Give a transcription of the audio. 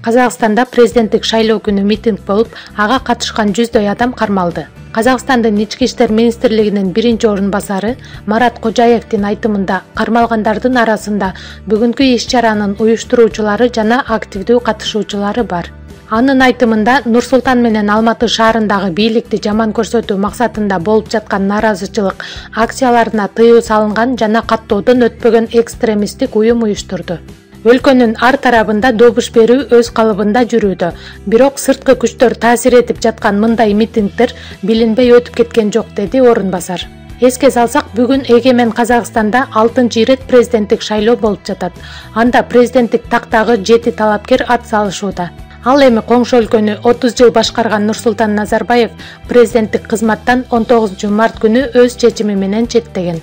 Казакстанда президенттик шайлоо күнү митинг болуп, ага катышкан 100дөй адам кармалды. Казакстандын ички иштер министрлигинин биринчи орун басары Марат Кожаевдин айтымында кармалгандардын арасында бүгүнкү иш-чаранын уюштуруучулары жана активдүү катышуучулары бар. Анын айтымында Нур-Султан менен Алматы шаарындагы бийликти жаман көрсөтүү максатында болуп жаткан нааразычылык акцияларына тыюу салынган жана каттоодон өтпөгөн экстремисттик уюм уюштурду. Өлкөнүн ар тарабында добуш берүү өз калыбында жүрүүдө, бирок сырткы күчтөр таасир этип жаткан мындай митингдер билинбей өтүп кеткен жок, деди орун басар. Эске салсак, бүгүн Эгемен Казакстанда 6-чы ирет президенттик шайлоо болуп жатат. Анда президенттик тактагы 7 талапкер ат салышууда. Ал эми коңшу өлкөнү 30 жыл башкарган Нурсултан Назарбаев президенттик кызматтан 19 март күнү өз чечими менен четтеген.